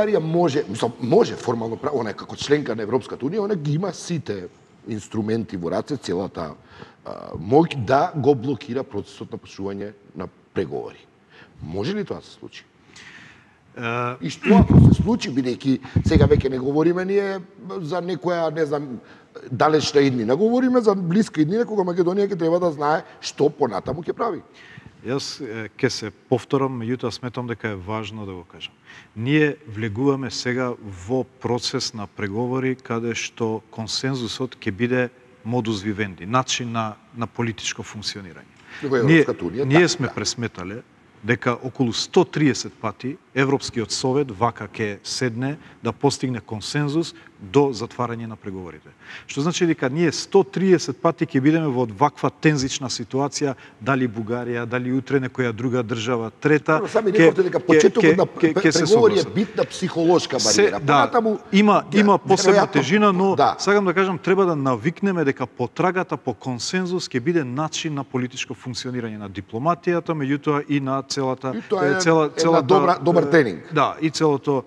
Бугарија може формално право, она како членка на Европската унија, она ги има сите инструменти во раце, целата моќ да го блокира процесот на почнување на преговори. Може ли тоа да се случи? И што ако се случи, бидејќи сега веќе не говориме ние за некоја, не знам, далечна иднина, говориме за блиска иднина кога Македонија ќе треба да знае што понатаму ќе прави. Јас ќе се повторам, меѓутоа сметам дека е важно да го кажам. Ние влегуваме сега во процес на преговори каде што консензусот ќе биде модус вивенди, начин на политичко функционирање. Ние сме пресметале дека околу 130 пати Европскиот совет вака ќе седне да постигне консензус до затварање на преговорите. Што значи дека ние 130 пати ќе бидеме во ваква тензична ситуација, дали Бугарија, дали утре некоја друга држава, трета, сами реколте дека почетокот на преговори е битна психолошка бариера. Има посебна тежина, но сакам да кажам треба да навикнеме дека потрагата по консензус ќе биде начин на политичко функционирање на дипломатијата, меѓутоа и на целата добар тренинг. Да, и целото